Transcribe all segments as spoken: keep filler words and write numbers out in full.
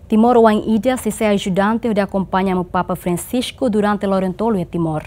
Timoroan ida sei sai ajudante hodi akompaña Amu Papa Francisco durante loron tolu iha Timor.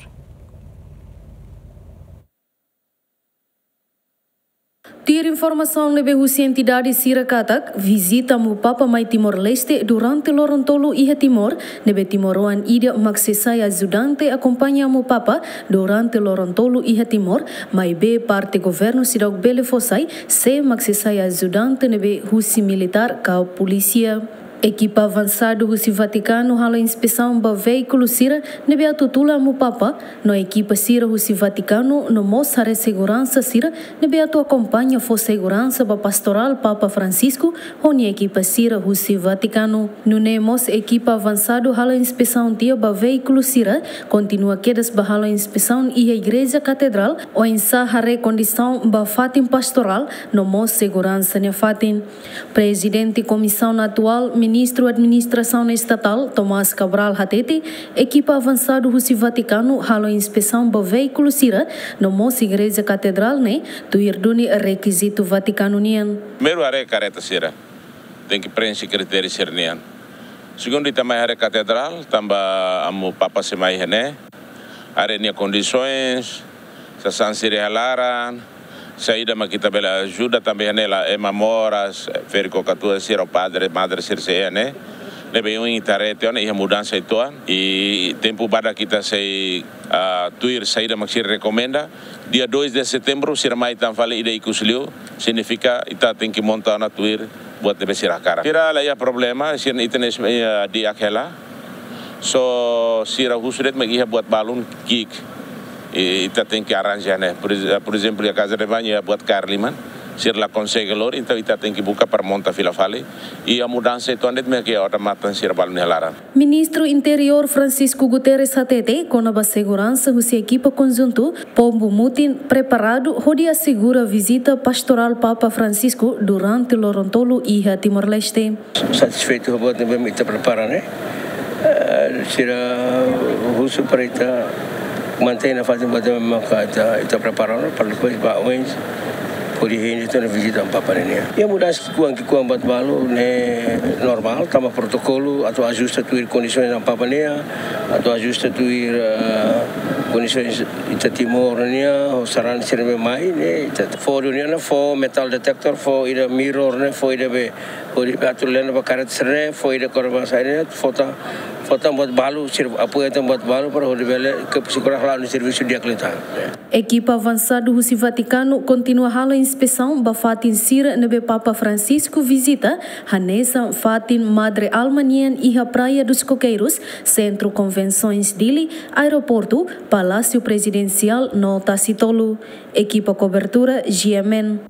Tuir informasaun ne'ebé husi entidade sira katak, vizita Amu Papa mai Timor-Leste durante loron tolu iha Timor, ne'ebé timoroan ida mak sei sai ajudante akompaña Amu Papa durante loron tolu iha Timor, maibé parte governu seidauk bele fó sai sé mak sei sai ajudante ne'ebé husi militár ka polísia. Ekipa avansadu husi Vatikanu halo inspesaun ba veíkulu sira ne'ebé atu tula Amu Papa, no ekipa sira husi Vatikanu no mós haree seguransa sira ne'ebé atu akompaña fó seguransa ba pastorál Papa Francisco ho nia ekipa sira husi Vatikanu. Nune'e mós ekipa avansadu halo inspesaun tiha ba veíkulu sira, kontinua kedas ba halo inspesaun iha Igreja Katedrál, oinsá haree kondisaun ba fatin pastorál no mós seguransa nia fatin. Prezidente Komisaun Atuál, Ministru Administrasaun Estatál, Tomás Cabral hatete, ekipa avansadu husi Vatikanu halo inspesaun ba veíkulu sira no mós Igreja Katedrál ne'e, tuir duni rekizitu Vatikanu nian. Primeiru haree kareta sira, tenke prenxe kritériu sira nian. Segundu, ita mai haree Katedrál, tanba Amu Papa sei mai iha ne'e. Haree nia kondisoens, sasán sira iha laran, saida mak ita bele ajuda tanba iha ne'e la ema moras, ferik-katuas sira, padre, madre sira sei iha ne'e. Ne'ebé ohin ita haree tiha ona iha mudansa uitoan, i tempu badak ita sei, ah, tuir saida mak sira rekomenda. Dia dois de setembro, sira mai tan fali ida ikus liu, signifika ita tenke monta ona tuir buat ne'ebé sira hakarak. Sira la iha problema, sira ita-nia, eh, di'ak hela. Só sira husu de'it mak iha buat balun ki'ik. I ita tenke arranja ne'e. Por ex-, por ezemplu, iha Casa de Banho iha buat kaer liman. Sira la konsege lori, entaun ita tenke buka para monta fila fali. I iha mudansa uitoan de'it mak iha odamatan sira balun iha laran. Ministru Interiór Francisco Guterres hatete, kona-ba seguransa husi ekipa konjuntu, povu mutin preparadu hodi asegura vizita pastorál Papa Francisco durante loron tolu iha Timor-Leste. Satisfeitu ho buat ne'ebé ita prepara ne'e. Eh, sira husu para ita mantein nafatin buat ne'ebé maka ita, ita prepara ona, para depois ba oin hodi hein tiha ona vizita Amu Papa nian. Iha mudansa ki'ikoan, ki'ikoan buat balu ne'e normál, tanba protokolu atu ajusta tuir kondisoens Amu Papa nian, atu ajusta tuir, eh, kondisoens ita Timor nian, ho sarani sira ne'ebé mai ne'e, ita fó duniana, fó metal detector, fó ida mirror ne'e, fó ida be, hodi be atu lena ba kareta sira ne'e, fó ida kora-ba saida ne'e, fó tan, fó tan buat balu, sira apoia tan buat balu, para hodi bele ke sira kora hala'o nia servisu di'ak liután. Ekipa avansadu husi Vatikanu kontinua halo inspesaun ba fatin sira ne'ebé Papa Francisco vizita, hanesan fatin Madre Alma nian iha Praia dos Coqueiros, Sentru Konvensoens Dili, Aeroportu, Palásiu Prezidensiál no Tasitolu. Ekipa kobertura G M N.